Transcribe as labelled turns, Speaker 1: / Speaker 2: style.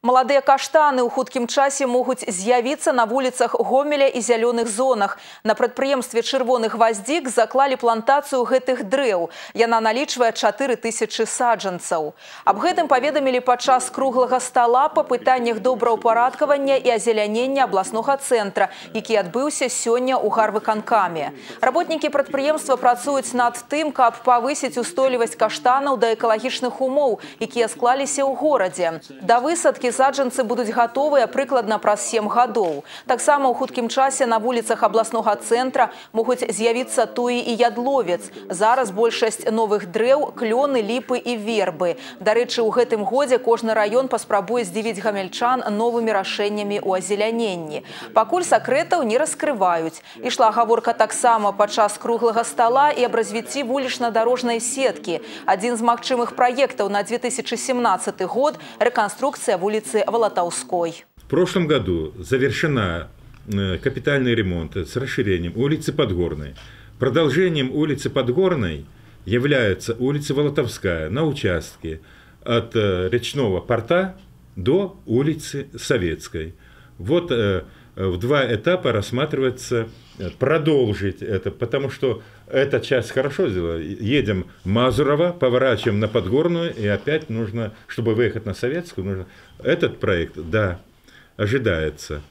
Speaker 1: Маладыя каштаны ў хуткім часе могуць з'явіцца на вуліцах Гомеля і зялёных зонах. На прадпрыемстве «Чырвоны гваздзік» заклалі плантацыю гэтых дрэў. Яна налічвае 4000 саджанцаў. Аб гэтым паведамілі падчас круглага стала па пытаннях добраўпарадкавання і азелянення абласнога цэнтра, які адбыўся сёння ў гарвыканкаме. Работнікі прадпрыемства працуюць над тым, каб павысіць устойлівасць каштанаў да экалагічных умоў, якія склаліся ў горадзе. Да высадкі саджанцы будуць гатовыя прыкладна праз 7 гадоў. Таксама ў хуткім часе на вуліцах абласнога цэнтра могуць з'явіцца туі і ядловец. Зараз большасць новых дрэў – клёны, ліпы і вербы. Дарэчы, у гэтым годзе кожны раён паспрабуе здзівіць гамельчан новымі рашэннямі ў азеляненні. Пакуль сакрэтаў не раскрываюць. Ішла гаворка таксама падчас круглага стала і аб развіцці вулічна-дарожнай сеткі. Адзін з магчымых праектаў на 2017 год – рэканструкцыя вуліцы Волотовской.
Speaker 2: В прошлом году завершена капитальный ремонт с расширением улицы Подгорной. Продолжением улицы Подгорной является улица Волотовская на участке от речного порта до улицы Советской. Вот в 2 этапа рассматривается продолжить это, потому что эта часть хорошо сделала. Едем в Мазурово, поворачиваем на Подгорную, и опять нужно, чтобы выехать на Советскую, нужно... Этот проект, да, ожидается.